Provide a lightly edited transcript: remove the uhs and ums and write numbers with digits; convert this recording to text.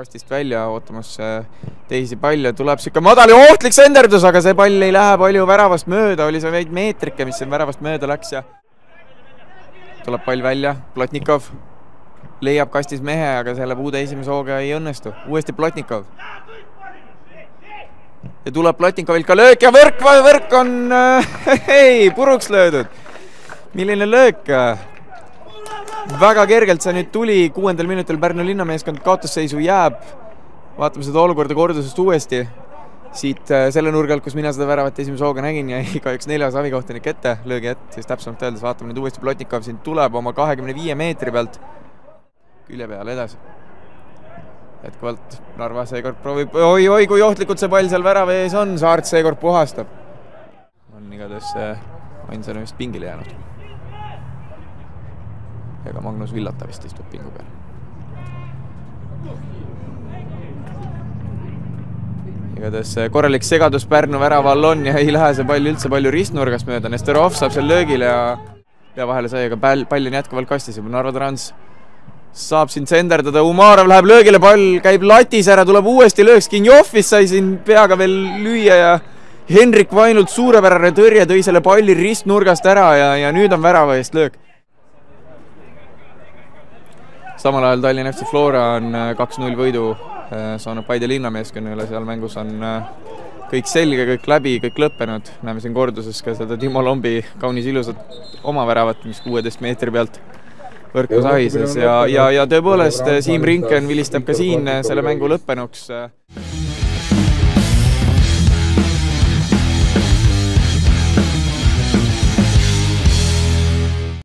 kastist välja ootamas teisi palle, tuleb siuke madal ja ohtlik senderdus, aga see pall ei lähe palju väravast mööda, oli see veid meetrike, mis väravast mööda läks ja tuleb pall välja, Plotnikov leiab kastis mehe, aga selle puude esimese hooga ei õnnestu. Uuesti Plotnikov. Ja tuleb Plotnikovilt ka löök ja võrk on puruks löödud. Milline löök? Väga kergelt see nüüd tuli 6. minutil Pärnu linnameeskond kaotusseisu jääb. Vaatame seda olukorda kordusest uuesti. Siit selle nurgalt, kus mina seda väravat esimese hooga nägin ja kahjuks 4. avikohtunik ette, löögi ette, siis täpsemalt öeldes vaatame nüüd uuesti Plotnikov siin tuleb oma 25 meetri pealt külje peale edasi. Jätkuvalt Narva seekord proovib, oi, kui ohtlikult see pall seal värava ees on, Saart seekord puhastab. On igatahes ainsana vist pingile jäänud. Ega Magnus Villata vist istub pingu peal. Igatahes korralik segadus Pärnu väraval on ja ei lähe see pall üldse palju ristnurgast mööda. Nesterov saab seal löögile ja vahele sai, aga pall on jätkuvalt kastis. Narva Trans saab siin senderdada, Umarov läheb löögile, pall käib latis ära, tuleb uuesti lööks, Kinjofis sai siin peaga veel lüüa ja Henrik Vainult suurepärane tõrje tõi selle palli ristnurgast ära ja nüüd on värava eest löök. Samal ajal Tallinna FC Flora on 2-0 võidu saanud Paide linnameeskonnale, seal mängus on kõik selge, kõik läbi, kõik lõppenud. Näeme siin korduses ka seda Timo Lombi kaunis ilusat oma väravat, mis 16 meetri pealt võrku sahises ja tõepoolest Siim Rinken vilistab ka siin selle mängu lõppenuks.